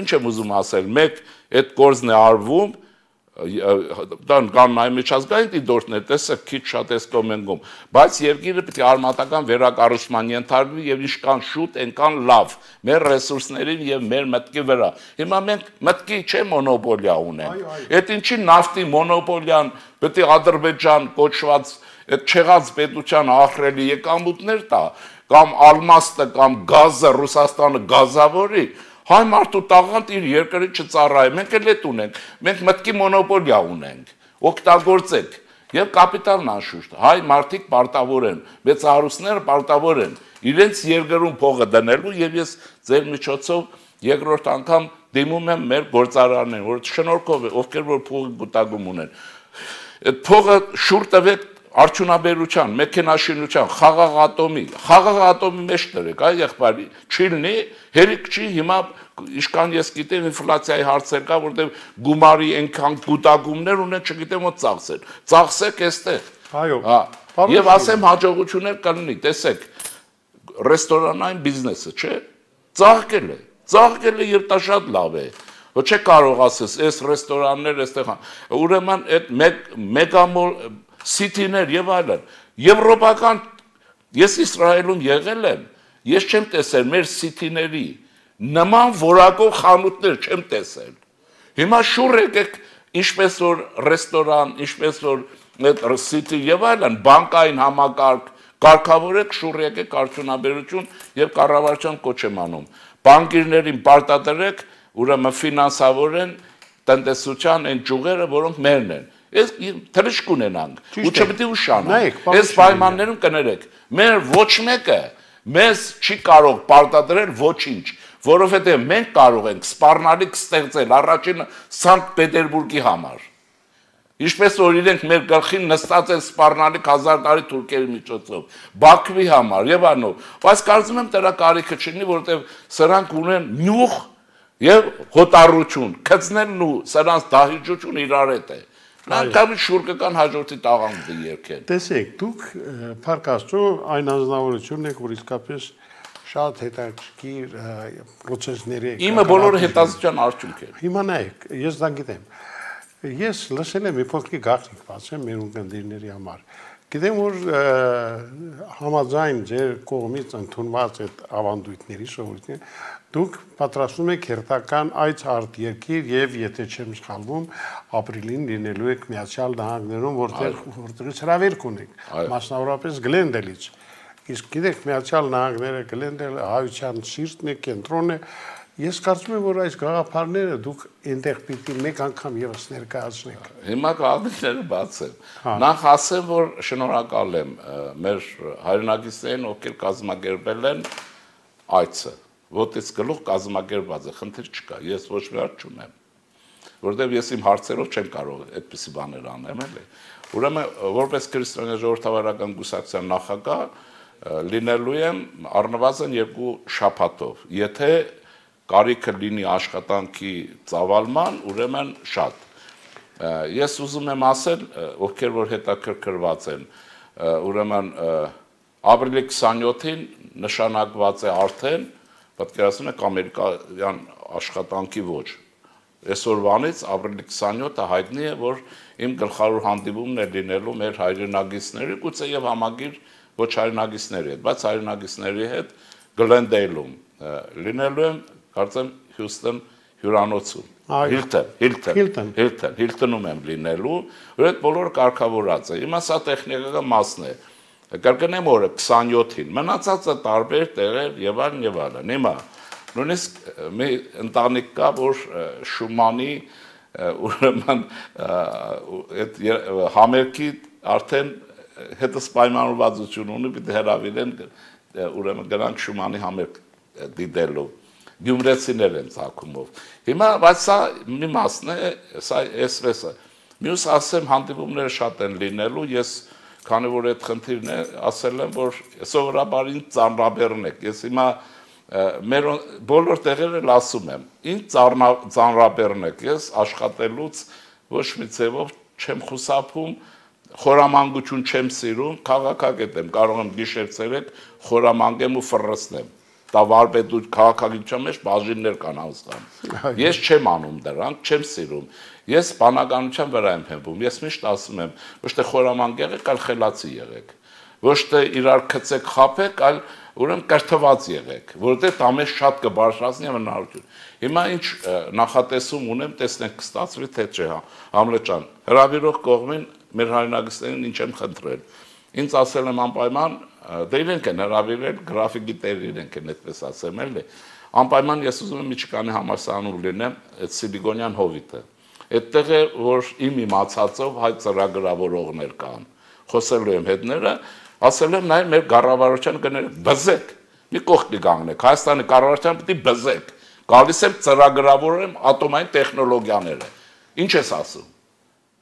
ինչ եմ ուզում ասել, մեկ այդ գործն է արվում, դան կան նայ միջազգային դիտորդներ, տեսեք քիչ շատ էս կոմենտում, բայց երկիրը պետք է արմատական վերակառուցման ենթարկվի եւ ինչքան շուտ, այնքան լավ մեր ռեսուրսներին եւ մեր մտքի վրա։ Հիմա մենք մտքի չէ մոնոպոլիա ունենք։ Այդ ինչի նավթի մոնոպոլիան պետք է Ադրբեջան կոչված այդ չեղած պետության ահռելի եկամուտներ տա, կամ ալմաստը կամ գազը Ռուսաստանը գազավորի։ Հայ մարդու տաղանդ իր երկրի չծառայ, մենք էլ էդ ունենք, մենք մտքի մոնոպոլիա ունենք, օգտագործեք, եւ կապիտալն անշուշտ, հայ մարդիկ պարտավոր են, մեծահարուստները պարտավոր են, իրենց երկրում փողը դնելու եւ ես ձեր միջոցով երկրորդ անգամ դիմում եմ մեր գործարաններին, որ շնորհքով ովքեր որ փողի գուտագում ունեն, այդ փողը շուռ տվեք արդյունաբերության, մեքենաշինության, խաղաղ ատոմի մեջ դրեք, այ եղբայր, չի լինի, հերիք չի, հիմա իշքան ես գիտեմ ինֆլյացիայի հարցեր կա, որտեղ գումարի այնքան գուտագումներ ունեն, չգիտեմ ո՞ց ծախսել։ Ծախսեք այստեղ։ Այո։ Եվ ասեմ հաջողություններ կլինի, տեսեք, ռեստորանային բիզնեսը, չէ՞, ծաղկել է եւ դա շատ լավ է։ Ոչ է կարող ասես, այս ռեստորաններ այստեղ, ուրեմն այդ մեգամոլ սիթիներ եւ այլն, եվրոպական, ես Իսրայելում եղել եմ, ես չեմ տեսել մեր սիթիների նման որակով խանութներ չեմ տեսել։ Հիմա շուռ եկեք, ինչպես որ ռեստորան, ինչպես որ այդ սիթի եւ այլն, բանկային համակարգ կարգավորեք, շուռ եկեք արդյունաբերություն եւ կառավարության կոչ եմ անում։ Բանկիրներին պարտադրեք, ուրեմն ֆինանսավորեն տնտեսության այն ճյուղերը, որոնք մերն են։ Ես թրիշկ ունենանք, ու չպետք է ուշանանք։ Այս պայմաններում կներեք, մեր ոչ մեկը մեզ չի կարող պարտադրել ոչինչ, որովհետև մենք կարող ենք սպառնալիք ստեղծել առաջինը Սանկտ Պետերբուրգի համար։ Ինչպես որ իրենք մեր գլխին նստած են սպառնալիք 1000 տարի թուրքերի միջոցով, Բաքվի համար եւ անով, բայց կարծում եմ դրա կարիքը չունի, որովհետեւ սրանք ունեն նյուխ եւ հոտառություն, քծնելն ու սրանց դահիճություն իրար հետ է։ Նրանք շուռ կան հաջորդի տաղանդը երկեն։ Տեսեք, դուք փառք Աստծո այն անձնավորությունն եք, որ իսկապես շատ հետաքրքիր process-ների եք։ Իմը բոլորը հետազոտության արդյունք է։ Հիմա նայեք, ես դա գիտեմ։ Ես լսել եմ մի փոքրիկ գաղտնիք բացեմ մեր ունկնդիրների համար։ Գիտեմ, որ համաձայն ձեր կողմից ընդունված այդ ավանդույթների շահույթները դուք պատրաստում եք հերթական այց արտերկիր եւ եթե չեմ սխալվում ապրիլին լինելու եք Միացյալ Նահանգներում, որտեղից հրավերք ունեք, մասնավորապես Գլենդելից։ Իսկ գիտեք, Միացյալ Նահանգները Գլենդել հայության սիրտն է, կենտրոնն է։ Ես կարծում եմ, որ այս գաղափարները դուք այնտեղ պիտի մեկ անգամ եւս ներկայացնեք։ Հիմա գաղափարները բաց են։ Նախ ասեմ, որ շնորհակալ եմ մեր հայրենակիցներին, ովքեր կազմակերպել են այցը, որտեղից գլուխ կազմակերպված է, խնդիր չկա, ես ոչ մի հարց չունեմ, որովհետև ես իմ հարցերով չեմ կարող այդպիսի բաներ անեմ, էլի։ Ուրեմն, որպես քրիստոնյա ժողովրդավարական կուսակցության նախագահ լինելու եմ առնվազն 2 շաբաթով, եթե կարիքը լինի աշխատանքի ծավալման, ուրեմն շատ։ Ես ուզում եմ ասել, ովքեր որ հետաքրքրված են, ուրեմն ապրիլի 27-ին նշանակված է արդեն, պատկերացնում եք ամերիկյան աշխատանքի ոճ։ Այսօրվանից ապրիլի 27-ը հայտնի է, որ իմ գլխավոր հանդիպումն է լինելու մեր հայրենագիցների, գուցե եւ համագիր ոչ հայրենագիցների հետ, բայց հայրենագիցների հետ Գլենդեյլում լինելու եմ կարծեմ Հյուսթոն հյուրանոցում, Հիլտոնում եմ լինելու, որ այդ բոլորը կարգավորած է։ Հիմա սա տեխնիկական մասն է։ Կրկնեմ օրը 27-ին, մնացածը տարբեր տեղեր եւ այլն։ Հիմա նույնիսկ մի ընտանիք կա, որ Շումանի ուրեմն այդ համերգի արդեն հետս պայմանավորվածություն ունի, պիտի հրավիրեն, ուրեմն գնանք Շումանի համերգ դիտելու։ Գյումրեցիներ են ցակումով։ Հիմա բայց սա մի մասն է, սա էսպես է։ Մյուս ասեմ հանդիպումները շատ են լինելու, ես քանի որ այդ խնդիրն է, ասել եմ, որ սովորաբար ինձ ծանրաբեռնեք։ Ես հիմա մեր բոլոր տեղերը ասում եմ, ինձ ծանրաբեռնեք, ես աշխատելուց ոչ մի ձևով չեմ խուսափում, խորամանկություն չեմ սիրում, քաղաքագետ եմ, կարող եմ գիշեր-ցերեկ խորամանկեմ ու ֆռռացնեմ։ Դա վարպետու քաղաքագիտության մեջ բաժիններ կան անձնական։ Ես չեմ անում դրանք, չեմ սիրում։ Ես բանականության վրա եմ հենվում։ Ես միշտ ասում եմ, ոչ թե խորամանկ եղեք, այլ խելացի եղեք։ Ոչ թե իրար քծեք, խաբեք, այլ ուրեմն կրթված եղեք, որովհետև դա մեզ շատ կբարձրացնի հնարավորություն։ Հիմա ինչ նախատեսում ունեմ, տեսնենք կստացվի թե չէ, Համլետ ջան, հրավիրող կողմին մեր հայրենակիցներին ինչ եմ խնդրել։ Ինձ ասել եմ անպայման դե իրենք են հրավիրել, գրաֆիկի տեր իրենք են այդպես ասեմ էլի։ Անպայման ես ուզում եմ Միչիգանի համալսարանում լինեմ այդ Սիլիկոնյան հովիտը։ Այդտեղ է որ իմ իմացածով հայ ծրագրավորողներ կան։ Խոսելու եմ հետները, ասել եմ նայ մեր կառավարության կներեք բզեք։ Մի կողքի կանգնեք, Հայաստանի կառավարության պիտի բզեք։ գալիս եմ ծրագրավորում ատոմային տեխնոլոգիաները։ Ինչ ես ասում։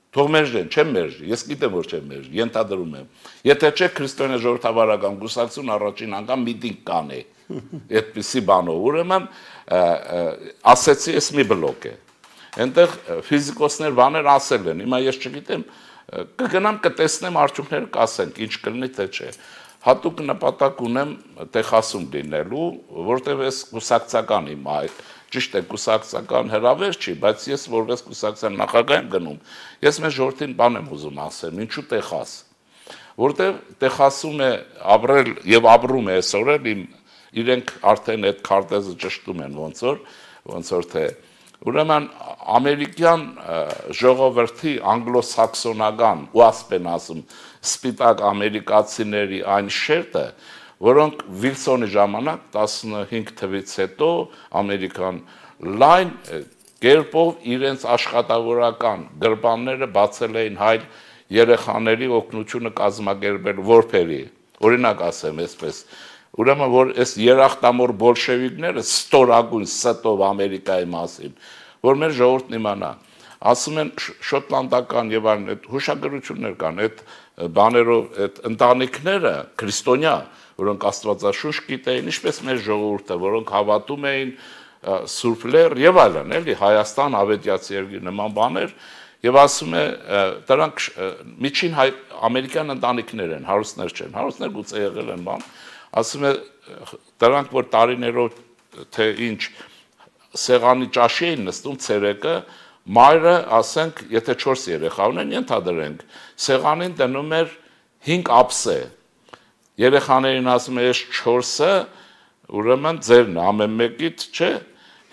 Թող մերժեն, չեմ մերժի, ես գիտեմ որ չեմ մերժի, ենթադրում եմ։ Եթե չէ քրիստոնյա ժողովրդավարական կուսակցություն առաջին անգամ միտինգ կանե։ Այդպիսի բանով, ուրեմն ասեցի ես մի բլոկ է։ Այնտեղ ֆիզիկոսներ բաներ ասել են, հիմա ես չգիտեմ, կգնամ կտեսնեմ արդյունքները կասենք, ինչ կլինի թե չէ։ Հատուկ նպատակ ունեմ Տեխասում լինելու, որտեղ ես կուսակցական իմ ճիշտ է կուսակցական հրավեր չի, բայց ես որպես կուսակցության նախագահ եմ գնում, ես մեր ժողովրդին բան եմ ուզում ասեմ, ինչու Տեխաս, որտեղ Տեխասում է ապրել եւ ապրում է այսօր էլ իրենք արդեն այդ քարտեզը ճշտում են ոնց որ թե ուրեմն ամերիկյան ժողովրդի անգլոսաքսոնական ու ասպեն ասում սպիտակ ամերիկացիների այն շերտը, որոնք Վիլսոնի ժամանակ 15 թվից հետո ամերիկան լայն կերպով իրենց աշխատավորական գրպանները բացել էին հայ երեխաների օգնությունը կազմակերպել որբերի, օրինակ ասեմ այսպես, ուրեմն որ այս երախտամոր բոլշևիկները ստորագույն ստով Ամերիկայի մասին, որ մեր ժողովուրդն իմանա, ասում են շոտլանդական եւ այլն այդ հուշագրություններ կան, այդ բաներով այդ ընտանիքները քրիստոնյա, որոնք աստվածաշունչ գիտեին, ինչպես մեր ժողովուրդը, որոնք հավատում էին Սուրբ Լեռ եւ այլն, էլի Հայաստան, Ավետյացի երկիր նման բաներ, եւ ասում է դրանք միջին ամերիկյան ընտանիքներ են, հարուստներ չեն, հարուստներ գուցե եղել են բան, ասում է դրանք որ տարիներով թե ինչ սեղանի ճաշի էին նստում ցերեկը, մայրը, ասենք, եթե 4 երեխա ունեն, ենթադրենք, սեղանին դնում էր 5 ափսե։ Երեխաներին ասում է, ես 4-ը, ուրեմն ձերն ամեն մեկիդ, չէ,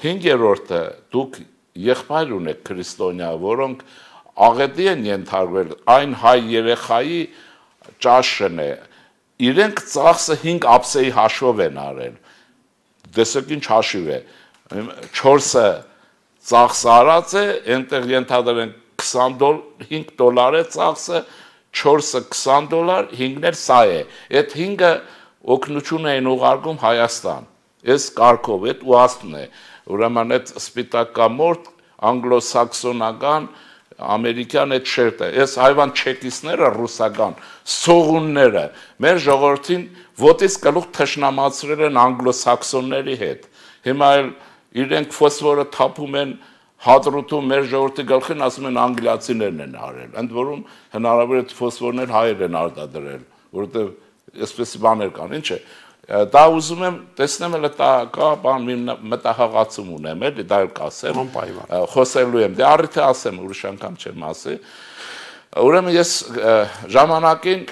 5-րդը դուք եղբայր ունեք քրիստոնյա, որոնք աղետի են ենթարկվել, այն հայ երեխայի ճաշն է, իրենք ծախսը 5 ափսեի հաշվով են արել, դեսեք ինչ հաշիվ է, 4-ը ծախսը արած է, ենտեղ ենթադրենք 5 դոլար է ծախսը, 4-ը 20 դոլար, 5-ն էլ սա է, այդ 5-ը օգնություն էին ուղարկում Հայաստան, այս կարգով, այդ ուաստն է, ուրեմն այդ սպիտակամորտ անգլոսաքսոնական ամերիկյան այդ շերտը, այս հայվան չեկիստները ռուսական, սողունները, մեր ժողովրդին ոտից գլուխ թշնամացրել են անգլոսաքսոնների հետ, հիմա էլ իրենք ֆոսֆորը թափում են հադրութում մեր ժողովրդի գլխին, ասում են անգլիացիներն են արել, ընդ որում հնարավոր է ֆոսֆորներ հայեր են արտադրել, որովհետև այսպես բաներ կան, ինչ է, դա ուզում եմ տեսնեմ էլ կա բան մտահղացում ունեմ, էլի դա էլ կասեմ, խոսելու եմ, դե առիթ է ասեմ, ուրիշ անգամ չեմ ասի, ուրեմն ես ժամանակին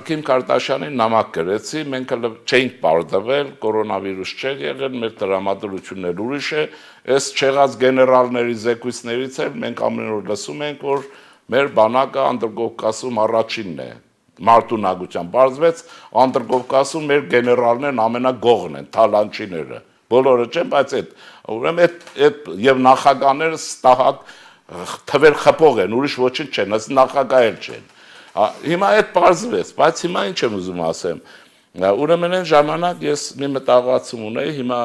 Քիմ Քարդաշյանին նամակ գրեցի, մենք չէինք պարտվել, կորոնավիրուս չէր եղել, մեր տրամադրություններ ուրիշ է, այս չեղած գեներալների զեկույցներից էլ մենք ամեն օր լսում ենք, որ մեր բանակը Անդրկովկասում առաջինն է, մարտունակությամբ բարձվեց, Անդրկովկասում մեր գեներալներն ամենագողն են, թալանչիները, բոլորը չեն, բայց ուրեմն այդ եւ նախագահները ստահակ թվեր խփող են, ուրիշ ոչինչ չեն, ըստ նախագահ էլ չեն։ Հիմա այդ բարձվեց, բայց հիմա ինչ եմ ուզում ասեմ։ Ուրեմն այն ժամանակ ես մի մտահղացում ունեի, հիմա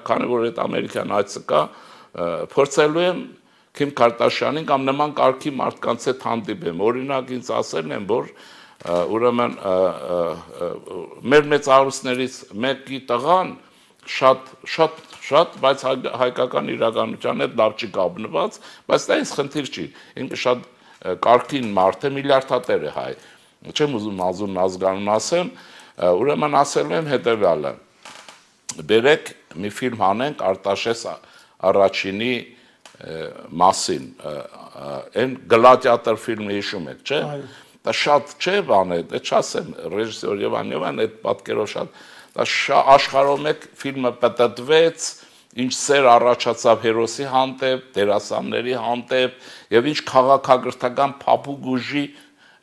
քանի որ այդ ամերիկյան այցը կա, փորձելու եմ Քիմ Քարդաշյանին կամ նման կարգի մարդկանց հետ հանդիպեմ։ Օրինակ ինձ ասել են, որ ուրեմն մեր մեծ հարուստներից մեկի տղան շատ, բայց հայկական իրականության հետ լավ չի կապնված, բայց դա ինձ խնդիր չի, ինքը շատ կարգին մարդ է, միլիարդատեր է հայ, չեմ ուզում ազուն ազգանուն ասեմ, ուրեմն ասել եմ հետևյալը, բերեք մի ֆիլմ հանենք Արտաշես առաջինի մասին, այն գլադիատոր ֆիլմը հիշում եք, չէ, դա շատ չէ բան է, դա չասեմ, ռեժիսոր Եվան այդ պատկերով շատ, աշխարհով մեկ ֆիլմը պատտվեց, ինչ սեր առաջացավ հերոսի հանդեպ, դերասանների հանդեպ եւ ինչ քաղաքագրթական փափուկ ուժի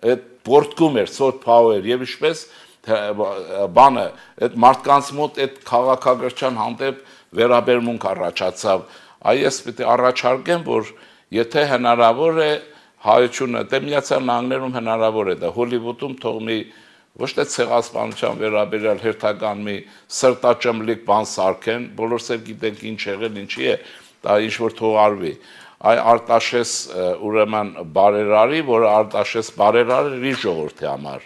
այդ պորտկում էր սոտ փաուեր եւ ինչպես բանը այդ մարդկանց մոտ այդ քաղաքագրչան հանդեպ վերաբերմունք առաջացավ այ ես պիտի առաջարկեմ որ եթե հնարավոր է հայությունը դե Միացյալ Նահանգներում հնարավոր է դա Հոլիվուդում թող մի ոչ թե ցեղասպանության վերաբերյալ հերթական մի սրտաճմլիկ բան սարքեն, բոլորս էլ գիտենք ինչ եղել, ինչի է, դա ինչ որ թողարվի։ Այ Արտաշես ուրեմն բարերարի, որը Արտաշես բարերարի ժողովրդի համար,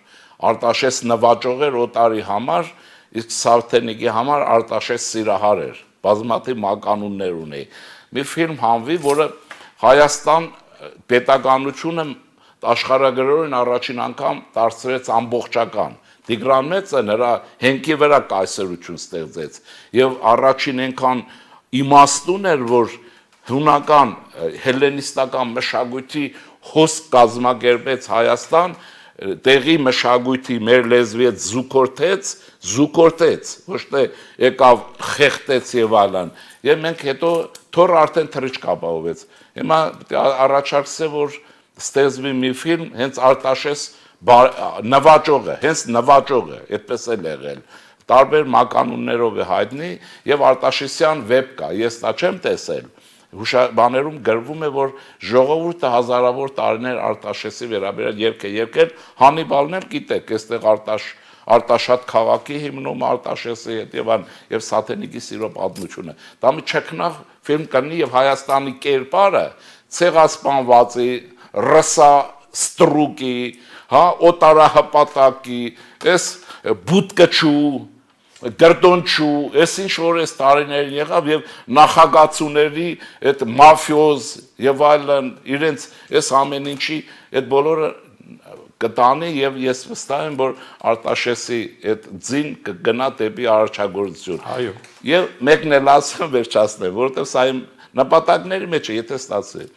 Արտաշես նվաճող էր օտարի համար, իսկ Սավթենիկի համար Արտաշես սիրահար էր, բազմաթիվ մականուններ ունի։ Մի ֆիլմ հանվի, որը Հայաստան պետականությունը աշխարհագրորեն առաջին անգամ դարձրեց ամբողջական։ Տիգրան Մեծը նրա հենքի վրա կայսրություն ստեղծեց եւ առաջին այնքան իմաստուն էր, որ հունական հելլենիստական մշակույթի հոսք կազմակերպեց Հայաստան, տեղի մշակույթի մեր լեզվի հետ զուգորդեց, ոչ թե եկավ խեղտեց եւ այլն։ Եվ մենք հետո թոր արդեն թրիչք ապահովեց։ Հիմա առաջարկսե որ ստեղծվի մի ֆիլմ հենց Արտաշես նվաճողը, հենց նվաճողը, այդպես էլ եղել։ Տարբեր մականուններով է հայտնի եւ Արտաշեսյան վեբ կա, ես դա չեմ տեսել։ Հուշաբաներում գրվում է, որ ժողովուրդը հազարավոր տարիներ Արտաշեսի վերաբերյալ երգ է եկել, Հանիբալն էլ գիտեք, այստեղ Արտաշատ քաղաքի հիմնում Արտաշեսի հետ եւ Սաթենիկի սիրո պատմությունը։ Դա մի չքնաղ ֆիլմ կլինի եւ Հայաստանի կերպարը ցեղասպանվածի, ռսա ստրուկի, հա, օտարահպատակի, այս բուտկչու Գերդոնչու, այս ինչ որ այս տարիներին եղավ եւ նախագծուների այդ մաֆիոզ եւ այլն իրենց այս ամեն ինչի այդ բոլորը կտանի եւ ես վստահ եմ որ Արտաշեսի այդ ձին կգնա դեպի արարչագործություն։ Այո։ Եվ մեկն էլ ասեմ վերջացնեմ, որովհետեւ սա իմ նպատակների մեջ է, եթե ստացվի։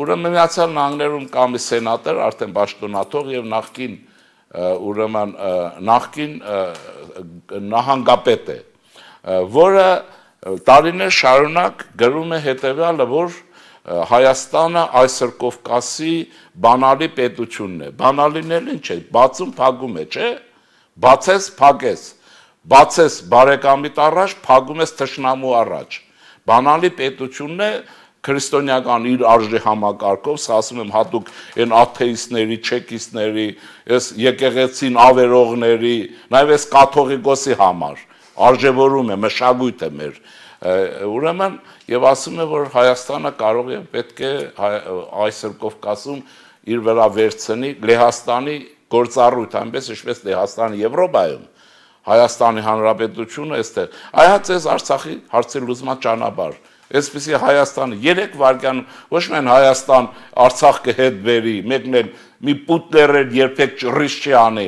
Ուրեմն Միացյալ Նահանգներում կա մի սենատոր, արդեն պաշտոնաթող եւ ուրեմն նախկին նահանգապետ է, որը տարիներ շարունակ գրում է հետևյալը, որ Հայաստանը այսօր Կովկասի բանալի պետությունն է։ Բանալին էլ ինչ է, բացում փակում է, չէ՞։ Բացես, փակես, բացես բարեկամիտ առաջ, փակում ես թշնամու առաջ։ Բանալի պետությունն է քրիստոնեական իր արժի համակարգով, սա ասում եմ հատուկ այն աթեիստների, չեկիստների, այս եկեղեցին ավերողների, նաև այս կաթողիկոսի համար արժևորում է, մշակույթ է մեր։ Ուրեմն եւ ասում է, որ Հայաստանը կարող է պետք է այսօր Կովկասում իր վրա վերցնի Լեհաստանի գործառույթ, այնպես ինչպես Լեհաստանի Եվրոպայում, Հայաստանի Հանրապետությունը այստեղ։ Այհաց էս Արցախի հարցի լուծման ճանապարհ։ Այսպեսի Հայաստանը 3 վայրկյան ոչ միայն Հայաստան Արցախ կհետ բերի, մեկն էլ մի պուտլերեր երբեք ճռիշ չի անի,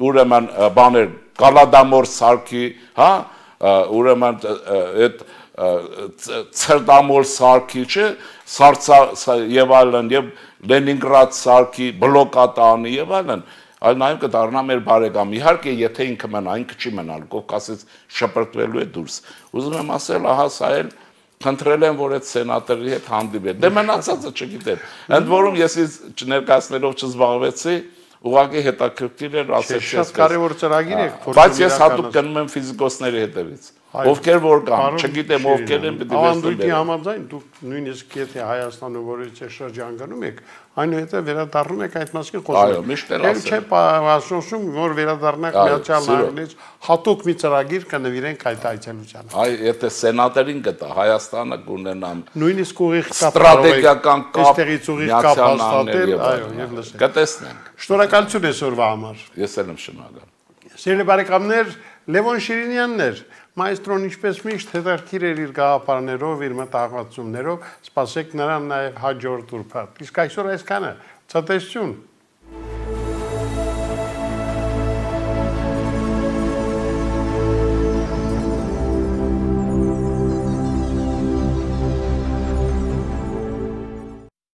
ուրեմն բաներ Գալադամոր սարքի, հա, ուրեմն այդ Ցերդամոր սարքի, չէ, եւ այլն եւ Լենինգրադ սարքի բլոկատանի եւ այլն, այլ նաեւ կդառնա մեր բարեկամ։ Իհարկե, եթե ինքը մնա, ինքը չի մնալ, Կովկասից շպրտվելու է դուրս։ Ուզում եմ ասել, ահա սա էլ խնդրել եմ, որ այդ սենատորի հետ հանդիպել։ Դե մնացածը չգիտեմ։ Ընդ որում ես ներկայացնելով չզբաղվեցի, ուղղակի հետաքրքիր էր ասեցի։ Շատ կարևոր ծրագիր է, բայց ես հատուկ գնում եմ ֆիզիկոսների հետևից։ Ովքեր որ կան, չգիտեմ ովքեր են, պիտի ավանդույթի համաձայն դուք նույնիսկ եթե Հայաստանը որից է շրջան գնում եք, այնուհետև վերադառնում եք այդ մասին խոսում։ Այո, միշտ էլ ասել։ Չէ, ասում որ վերադառնաք Միացյալ Նահանգներից հատուկ մի ծրագիր կնվիրենք այդ այցելությանը։ Այ եթե սենատորին կտա Հայաստանը կունենա նույնիսկ ուղիղ ստրատեգիական կապ այստեղից ուղիղ կապ հաստատել, այո, եւ լսել։ Կտեսնենք։ Շնորհակալություն այսօրվա համար։ Ես էլ եմ շնորհակալ։ Սիրելի բարեկամներ, Լևոն Շիրինյանն էր, մայստրոն ինչպես միշտ հետաքրքիր էր իր գաղափարներով, իր մտահղացումներով, սպասեք նրան նաև հաջորդ ուրբաթ։ Իսկ այսօր այսքանը, ցտեսություն։